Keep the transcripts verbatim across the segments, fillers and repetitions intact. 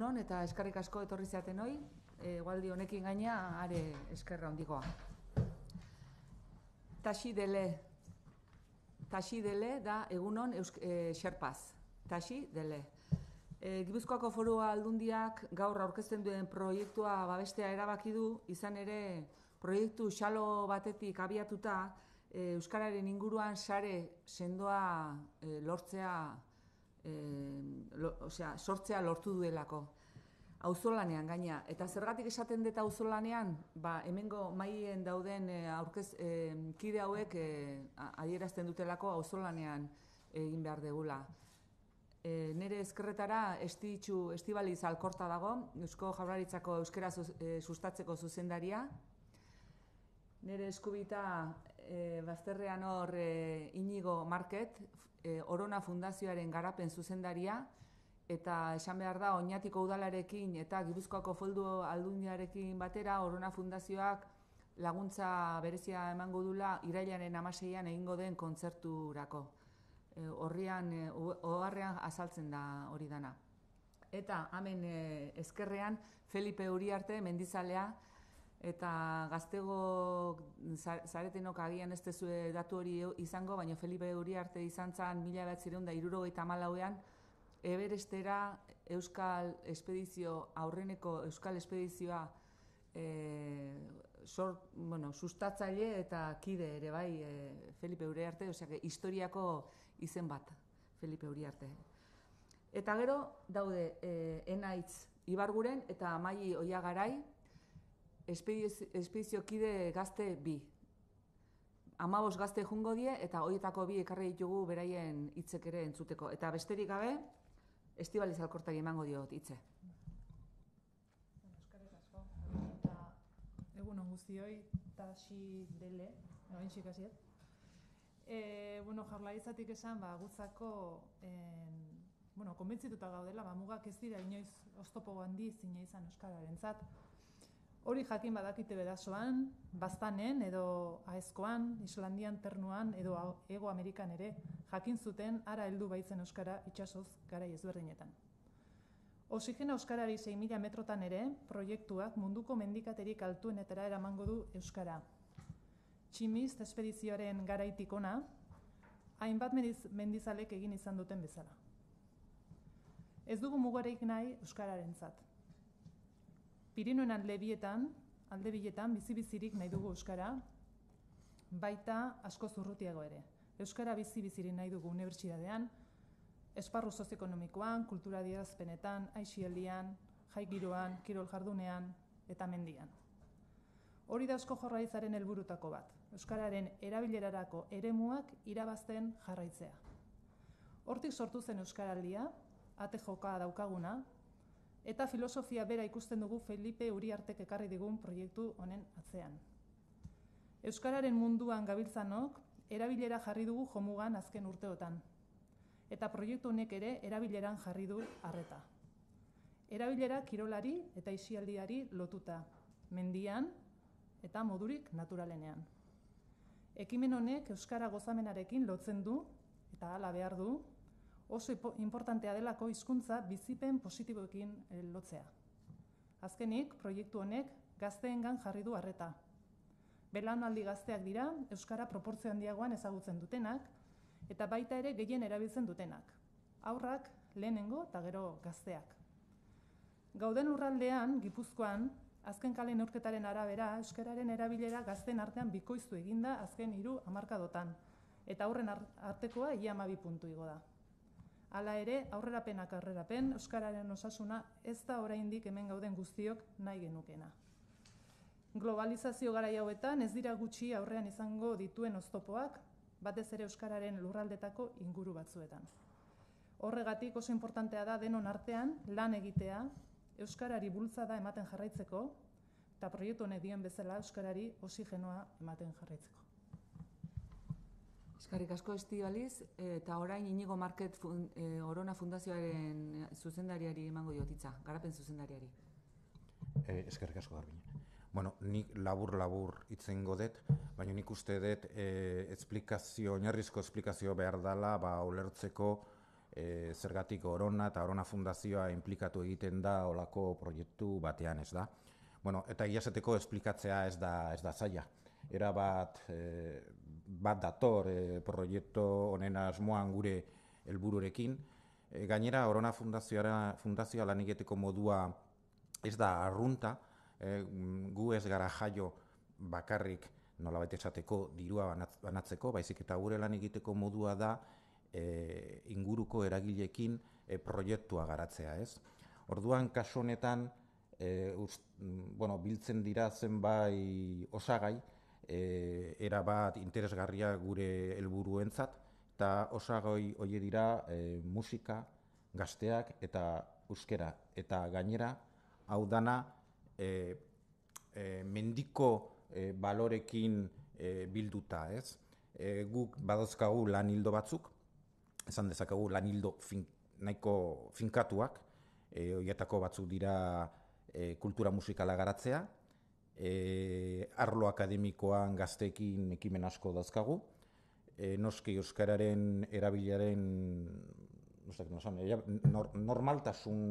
egunon eta eskerrik asko etorri zaten hoi, egualdi honekin gaina are eskerra handikoa. Taxi dele, taxi dele da egunon e, xerpaz, taxi dele. E, Gipuzkoako Foru Aldundiak gaur aurkezten duen proiektua babestea erabaki du, izan ere proiektu xalo batetik abiatuta e, Euskararen inguruan sare sendoa e, lortzea, e, lo, osea, sortzea lortu duelako. Auzolanean gaina. Eta zergatik esaten dut auzolanean, ba, hemengo maien dauden e, aurkez, e, kide hauek e, adierazten dutelako auzolanean egin behar degula. E, nere ezkerretara Estitxu Estibaliz Alkorta dago, Eusko Jaurlaritzako euskera e, sustatzeko zuzendaria. Nere eskubita e, bazterrean hor e, Inigo Market, e, Orona Fundazioaren garapen zuzendaria, eta esan behar da, Oñatiko udalarekin eta Gipuzkoako Foru Aldundiarekin batera Orona Fundazioak laguntza berezia emango dula irailaren hamaseian egingo den kontzerturako. E, horrian, e, oharrean azaltzen da hori dana. Eta hemen e, ezkerrean Felipe Uriarte mendizalea, eta gaztego zaretenok agian ez dezue datu hori izango, baina Felipe Uriarte izan zen mila bederatziehun eta hirurogeita hamalauean Everestera Euskal Espedizio, aurreneko Euskal Espedizioa e, sor, bueno, sustatzaile eta kide ere bai e, Felipe Uriarte, osea, historiako izen bat, Felipe Uriarte. Eta gero daude e, Enaitz Ibarguren eta Amaia Oiagarai, espedizio, espedizio kide gazte bi. Hamabost gazte jungo die eta horietako bi ekarri ditugu beraien hitzek ere entzuteko. Eta besterik gabe, Estibaliz Alkortari emango diot hitze. Eskerrik asko. Eta egun on guztioi, taxi dele, orain ikasiet. Eh, bueno, Jaurlaritzatik esan, ba gutzako en, bueno, konbentzituta gaudela, ba mugak ez dira inoiz oztopo handi zine izan euskararentzat. Hori jakin badakite bedasoan, Baztanen edo Aezkoan, Islandian, Ternuan edo Hego Amerikan ere jakin zuten ara heldu baitzen euskara itsasoz garai ezberdinetan. Oxigena euskarari sei mila metrotan ere proiektuak munduko mendikaterik altuenetara eramango du euskara. Tximist espedizioaren garaitik ona, hainbat mendizalek egin izan duten bezala. Ez dugu mugarik nahi euskararentzat. Pirinoen aldebietan, aldebiletan bizi-bizirik nahi dugu euskara, baita asko zurrutiago ere. Euskara bizi-bizirik nahi dugu unibertsitatean, esparru sozioekonomikoan, kultura adierazpenetan, aisialdian, jai giroan, kirol jardunean eta mendian. Hori da Eusko Jaurlaritzaren helburutako bat, euskararen erabilerarako eremuak irabazten jarraitzea. Hortik sortu zen euskaraldia, ate joka daukaguna, eta filosofia bera ikusten dugu Felipe Uriartek ekarri digun proiektu honen atzean. Euskararen munduan gabiltzanok erabilera jarri dugu jomugan azken urteotan. Eta proiektu honek ere erabileran jarri du arreta. Erabilera kirolari eta aisialdiari lotuta, mendian eta modurik naturalenean. Ekimen honek euskara gozamenarekin lotzen du eta hala behar du, oso importantea delako hizkuntza bizipen positiboekin lotzea. Azkenik, proiektu honek gazteengan jarri du arreta. Belaunaldi gazteak dira, euskara proportzio handiagoan ezagutzen dutenak, eta baita ere gehien erabiltzen dutenak. Haurrak, lehenengo eta gero gazteak. Gauden urraldean, Gipuzkoan, azken kale neurketaren arabera, euskararen erabilera gazteen artean bikoiztu eginda azken hiru hamarkadotan, eta aurren artekoa ia hamabi puntu igo da. Hala ere, aurrerapenak aurrerapen, euskararen osasuna ez da oraindik hemen gauden guztiok nahi genukena. Globalizazio garai hauetan ez dira gutxi aurrean izango dituen oztopoak, batez ere euskararen lurraldetako inguru batzuetan. Horregatik oso importantea da denon artean lan egitea, euskarari bultzada ematen jarraitzeko, eta proiektu honek dioen bezala euskarari oxigenoa ematen jarraitzeko. Eskerrik asko Estibaliz, eta orain Inigo Market fun, e, Orona Fundazioaren zuzendariari emango diotitza, garapen zuzendariari. E, eskerrik asko Garbine. Bueno, nik labur-labur itzengo dut, baina nik uste dut e, esplikazio, oinarrizko esplikazio behar dela, ba, ulertzeko e, zergatik Orona eta Orona Fundazioa implikatu egiten da olako proiektu batean, ez da. Bueno, eta egiazateko esplikatzea ez da, ez da zaila. Era bat, e, bat dator e, proiektu honen asmoan gure helbururekin. E, gainera, Orona Fundazioa, Fundazioa lan egiteko modua ez da arrunta, e, gu ez gara jaio bakarrik nolabait esateko dirua banatzeko, baizik eta gure lan egiteko modua da e, inguruko eragileekin e, proiektua garatzea, ez? Orduan, kasu honetan, e, ust, bueno, biltzen dira zenbait osagai, e, erabat interesgarria gure helburuentzat, eta osagai hoe dira e, musika, gazteak eta euskera. Eta gainera, hau dana, e, e, mendiko e, balorekin e, bilduta, ez? E, guk badozkagu lan hildo batzuk, esan dezakagu lan hildo fin, nahiko finkatuak, e, horietako batzuk dira e, kultura musikala garatzea, e, arlo akademikoan gazteekin ekimen asko dauzkagu, e, noski euskararen erabilaren nor, normaltasun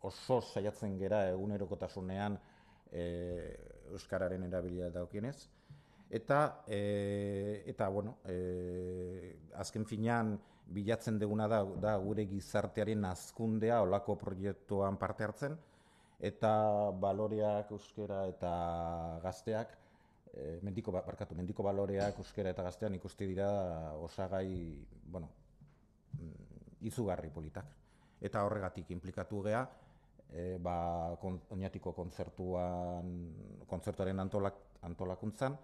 oso saiatzen gera egunerokotasunean e, euskararen erabilera daukienez. Eta, e, eta bueno, e, azken finean bilatzen duguna da, da gure gizartearen hazkundea olako proiektuan parte hartzen, eta baloreak euskera eta gazteak, e, mendiko, barkatu, mendiko baloreak euskera eta gaztean ikusti dira osagai, bueno, izugarri politak. Eta horregatik inplikatu gea, e, ba, kon, oinatiko kontzertuan, kontzertuaren antolak, antolakuntzan,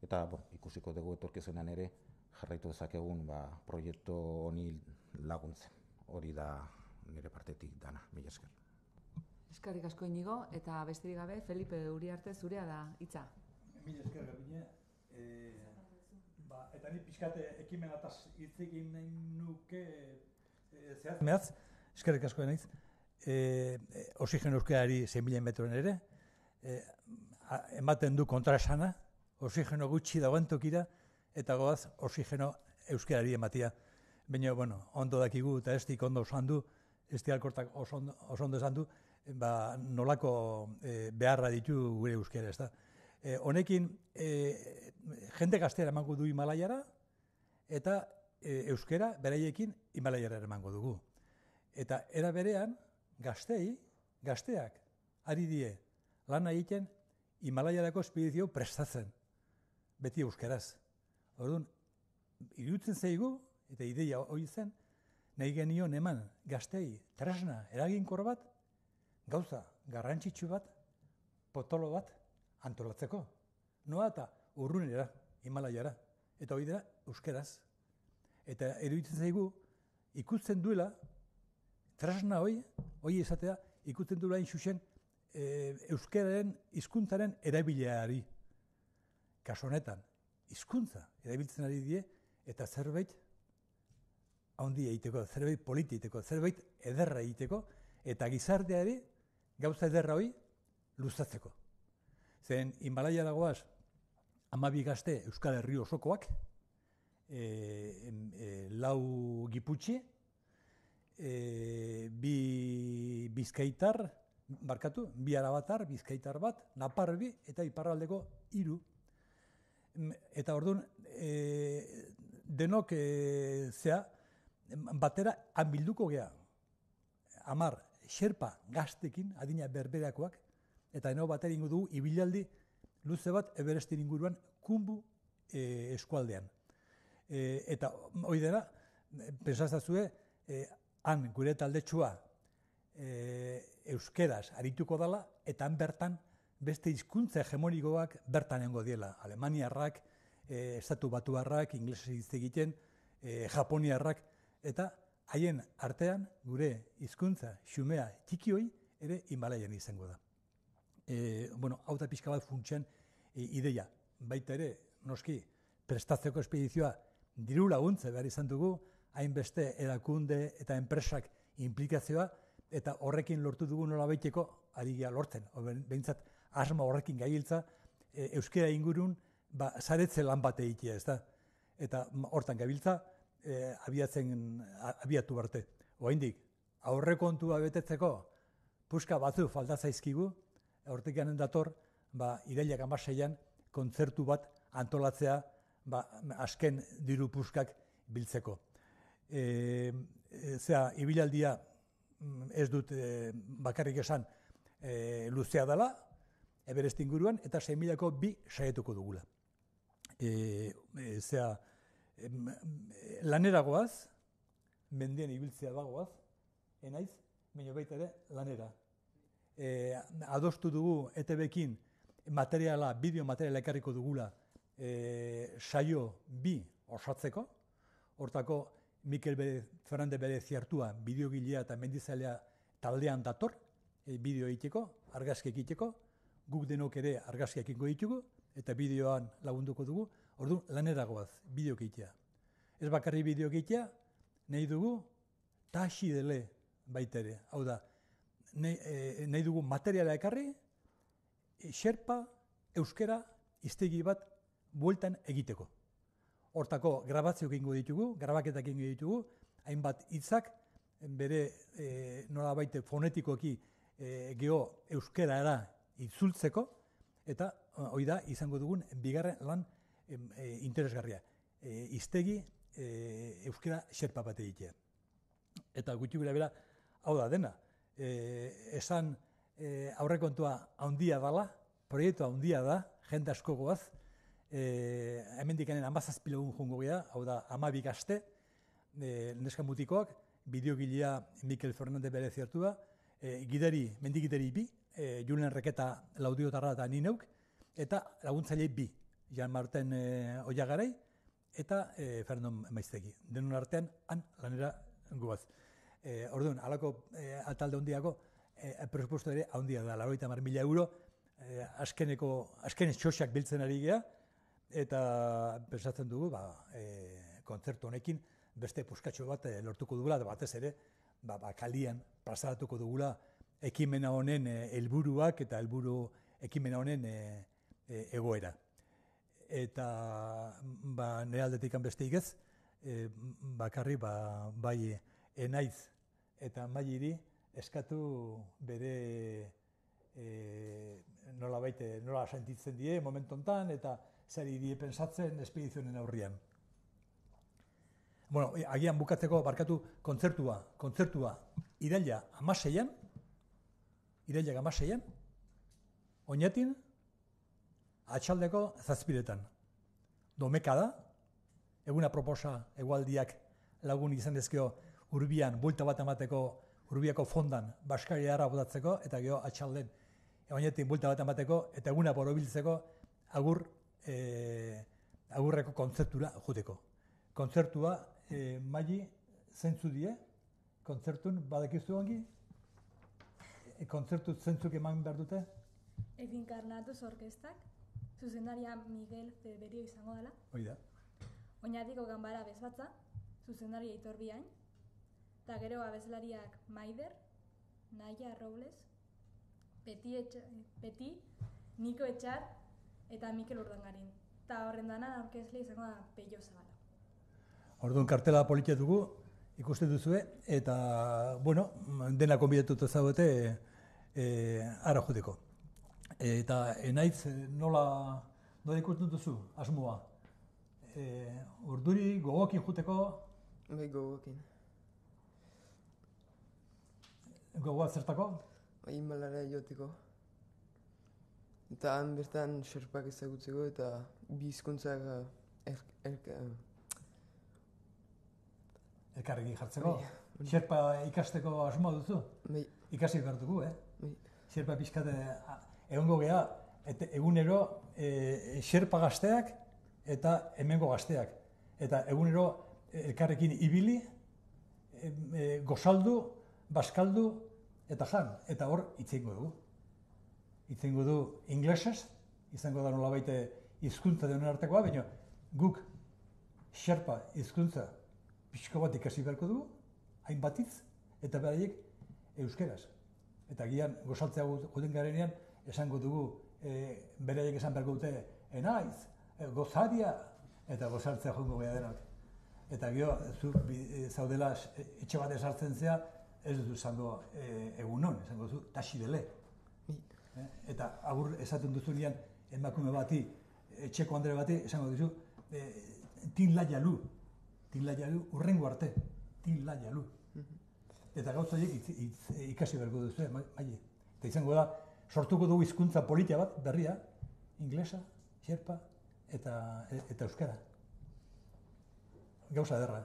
eta bon, ikusiko dugu etorkizunean ere jarraitu dezakegun ba, proiektu honi laguntzen. Hori da nire partetik dana, mila esker. Eskerrik asko Inigo, eta besterik gabe, Felipe Uriarte zurea da hitza. Mila esker Gabine. E, ba, eta ni pixkate ekimen ataz hitz egin nahi nuke e, zehaz. Mehatz, eskerrik asko naiz. E, e, oxigeno euskarari zein mila metroen ere, e, a, ematen du kontraesana, oxigeno gutxi dagoen tokira, eta goaz oxigeno euskarari ematia. Baina, bueno, ondo dakigu eta estik ondo osan du, esti alkortak oso ondo esan du, ba, nolako e, beharra ditu gure euskara, ez da. E, honekin, e, jende gaztera emango du Himalaiara, eta e, euskara beraiekin Himalaiara emango dugu. Eta era berean, gaztei, gazteak, ari die, lan egiten Himalaiarako espedizio prestatzen, beti euskaraz. Orduan, iruditzen zaigu, eta ideia hori zen, nahi genion eman gaztei tresna eraginkor bat, gauza garrantzitsu bat, potolo bat antolatzeko. Noa eta urrunera, Himalaiara, eta hori dira euskaraz. Eta iruditzen zaigu, ikusten duela, tresna hori, hori izatea, ikusten duela inxusen e, euskararen hizkuntzaren erabileari. Kaso honetan, hizkuntza erabiltzen ari die, eta zerbait handi egiteko, zerbait politi egiteko, zerbait ederra egiteko, eta gizarteari gauza ederra hori luzatzeko. Zen, Himalaya dagoaz, hamabi gazte Euskal Herri osokoak, e, e, lau giputxi, e, bi bizkaitar, barkatu, bi arabatar, bizkaitar bat, naparbi eta iparraldeko hiru. Eta orduan, e, denok e, zea, batera hanbilduko gea. Hamar, xerpa gaztekin, adina berberakoak, eta denok batera ingo dugu, ibilaldi luze bat Everestin inguruan Kumbu e, eskualdean. E, eta hori dena, pentsazazue, e, han gure taldetsua e, euskeraz arituko dela, eta han bertan beste hizkuntza hegemonikoak bertan engo diela. Alemaniarrak, e, estatu batuarrak, inglesez hitz egiten, e, japoniarrak, eta haien artean gure hizkuntza xumea txiki hoi ere Himalaian izango da. E, bueno, hau da pixka bat funtsen e, ideia. Baita ere, noski, prestatzeko espedizioa diru laguntze behar izan dugu, hainbeste erakunde eta enpresak implikazioa, eta horrekin lortu dugu nola baiteko ari gea lortzen. Behintzat, asma horrekin gailtza, e, euskera ingurun, ba, zaretze lan bat egitea, ez da. Eta hortan gabiltza, e, abiatzen, abiatu arte. Oraindik aurrekontua betetzeko puska batzu falta zaizkigu, hortik dator, ba, irailak hamaseian kontzertu bat antolatzea, ba, azken diru puskak biltzeko. E, e, zera, ibilaldia ez dut e, bakarrik esan e, luzea dela, Everest inguruan, eta sei milako bi saietuko dugula. E, e, zera, e, lanera goaz, mendien ibiltzea bagoaz, enaiz, baina baita ere lanera. E, adostu dugu E T B-kin materiala, bideo materiala ekarriko dugula e, saio bi osatzeko, hortako Mikel Fernandez bere ziartua, bideogilea eta mendizalea taldean dator, e, bideo egiteko, argazki egiteko, guk denok ere argazki egingo ditugu, eta bideoan lagunduko dugu, orduan lanera goaz, bideo egitea. Ez bakarri bideo egitea, nahi dugu, taxi dele baita ere, hau da, nahi, e, nahi dugu materiala ekarri, e, xerpa, euskera, hiztegi bat bueltan egiteko. Hortako grabazio egingo ditugu, grabaketak egingo ditugu, hainbat hitzak bere e, nolabait fonetikoki e, geho euskerara itzultzeko, eta hori da izango dugun bigarren lan e, e, interesgarria. E, hiztegi e, euskera xerpa bat egitea. Eta gutxi gura bera, hau da dena, e, esan e, aurrekontua handia dela, proiektu handia da, jende asko goaz, e, hemendik hemen hamazazpi lagun jongo gea, hau da hamabik aste, e, neska mutikoak, bideogilea Mikel Fernandez bere zertua, e, gidari, mendigidari bi, e, Julen Reketa Laudiotarra eta ni neuk, eta laguntzaile bi, Jan Marten e, Oiagarai, eta e, Fernando Maiztegi. Denon artean, han lanera goaz. E, orduan, halako e, atalde handiako, e, presupuesto ere handia da, laurogeita hamar mila euro, e, azkeneko, azken txosak biltzen ari gea, eta pensatzen dugu, ba, e, kontzertu honekin, beste puskatxo bat e, lortuko dugula, da batez ere, ba, ba, kalian plazaratuko dugula ekimena honen e, helburuak eta helburu ekimena honen e, e, egoera. Eta ba, nire aldetik besteik ez, e, bakarri ba, bai enaiz eta mailiri eskatu bere e, nola baite, nola sentitzen die momentu honetan eta zer die pensatzen espedizionen aurrian. Bueno, agian bukatzeko barkatu kontzertua, kontzertua iraila hamaseian, iraila hamaseian, oinatin, atxaldeko zazpiretan. Domeka da, eguna proposa egualdiak lagun izan dezkeo urbian, buelta bat emateko, urbiako fondan, Baskari harra botatzeko, eta geho atxalden, oinatin buelta bat emateko, eta eguna borobiltzeko agur, e, agurreko kontzertura juteko. Kontzertua, e, maili, zentzu die, kontzertun, badakizu ongi, e, kontzertu zentzuk eman behar dute? Efinkarnatuz orkestak, zuzendaria Miguel Feberio izango dela. Hoi da. Oinatiko ganbara bezbatza, zuzendaria Aitor Biain, eta gero abeslariak Maider, Naia Robles, Peti, Etxa, Peti, Niko Etxar eta Mikel Urdangarin. Eta horren dana aurkezle izango da Peio Zabala. Orduan kartela politia dugu, ikusten duzue, eta, bueno, dena konbidatuta zaudete e, ara juteko. Eta enaiz nola, nola ikusten duzu, asmoa? E, urduri, gogokin juteko? Bai, gogokin. Gogoa zertako? Bai, Himalayara joteko. Eta han bertan xerpak ezagutzeko eta bi hizkuntzak er, er, elkarrekin jartzeko? Bai. Xerpa ikasteko asmoa duzu? Bai. Ikasi behar dugu, eh? Bai. Xerpa pixkate, egongo geha, et, egunero e, xerpa gazteak eta hemengo gazteak. Eta egunero elkarrekin ibili, e, e, gozaldu, baskaldu eta jan. Eta hor itzengo dugu. Itzengo du inglesez, izango da nolabait hizkuntza denen artekoa, baina guk xerpa hizkuntza pixko bat ikasi beharko dugu, hainbatitz, eta beraiek euskeraz. Eta gian gozaltzea guten garenean, esango dugu, e, beraiek esan beharko dute, enaiz, e, gozaria, eta gozaltzea joango gara denak. eta gero, zu zaudela etxe bat esartzen zea, ez duzu esango egunon, esango duzu taxi dele. Eta agur esaten duzunean emakume bati, etxeko andre bati, esango duzu, tin la jalu, tin la jalu, urrengo arte, tin la jalu. Eta gauza horiek ikasi beharko duzu, maile. Eta izango da, sortuko dugu hizkuntza politia bat, berria, inglesa, xerpa eta euskara. Gauza ederra,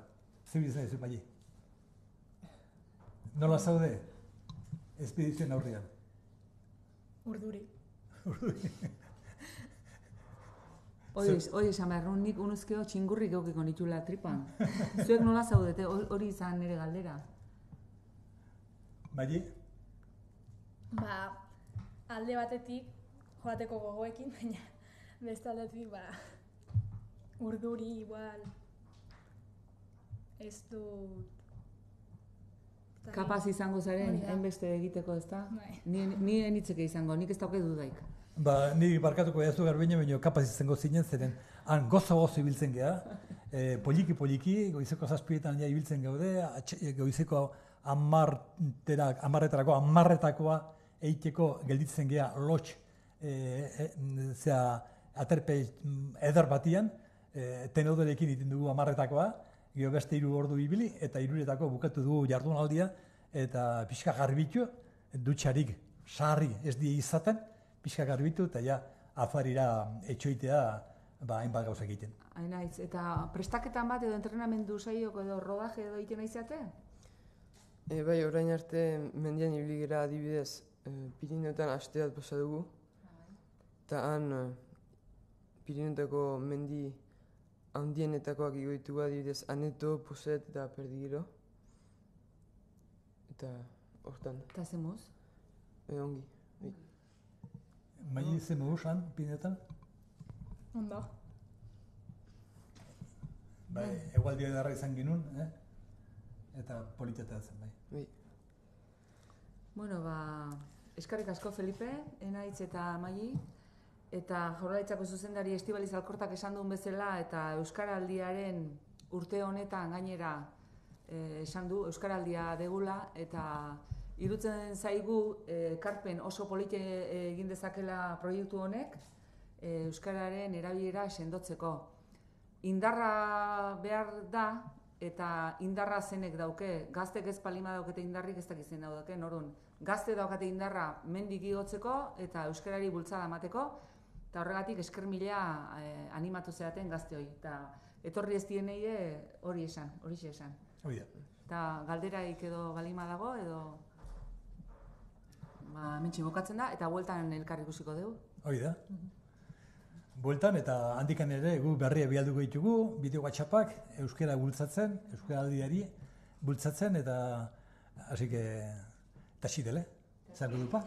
zeu izan duzu, maile. Nola zaude, espedizioen aurrean? Urduri. Urduri. Hori esan behar, nik unuzkeo txingurrik eukiko nitula tripan. Zuek nola zaudete, hori izan nire galdera. Maile? Ba, alde batetik joateko gogoekin, baina beste aldetik, ba, urduri igual ez dut... Kapaz izango zaren, hainbeste egiteko, ez da? Ni enitzeke izango, nik ez dauke dudaik. Ba, ni barkatuko edazu garbine, baina kapaz izango zinen, zeren han gozo-gozo ibiltzen geha, poliki-poliki, goizeko zazpietan ja ibiltzen gaude, goizeko amarretarako, amarretakoa eiteko gelditzen geha lotx, zera, aterpe eder batian, tenodorekin iten dugu amarretakoa, gero beste hiru ordu ibili, eta hiruretako bukatu dugu jardunaldia, eta pixka garbitu, dutxarik sarri ez die izaten, pixka garbitu, eta ja, afarira etxoitea, ba, hainbat gauzak egiten. Hainaiz, eta prestaketan bat edo entrenamendu saioko edo rodaje edo egiten aizate? E, bai, orain arte mendian ibili gara adibidez, e, Pirineotan aste bat pasa dugu, eta han e, Pirineotako mendi handienetakoak igoitugu adibidez Aneto, Poset eta Perdigiro. Eta hortan. Eta zemuz? E, ongi. Bai. Maile ze moduz han, Pirineotan? Ondo. Bai, egualdia edarra izan genuen, eh? Eta politeta zen, bai. Bai. Bueno, ba, eskarrik asko Felipe, Enaitz eta Maili, eta Jaurlaritzako zuzendari Estibaliz Alkortak esan duen bezala, eta Euskaraldiaren urte honetan gainera esan du, Euskaraldia degula, eta irutzen zaigu ekarpen oso polite egin dezakela proiektu honek, Euskararen erabilera sendotzeko. Indarra behar da, eta indarra zenek dauke, gaztek ez palima daukete indarrik ez dakizen dauke, orduan. Gazte daukate indarra mendik igotzeko eta euskarari bultzada emateko, eta horregatik esker mila eh, animatu zeaten gazte hori. Eta etorri ez dienei hori esan, hori esan. Hori da. Eta galderaik edo balima dago, edo ba, mentxe bukatzen da, eta bueltan elkar ikusiko dugu. Hori da. Bueltan eta handikan ere gu berria bialduko ditugu, bideo WhatsAppak euskara bultzatzen, euskaraldiari bultzatzen, eta hasi que taxi dele, zango dupa.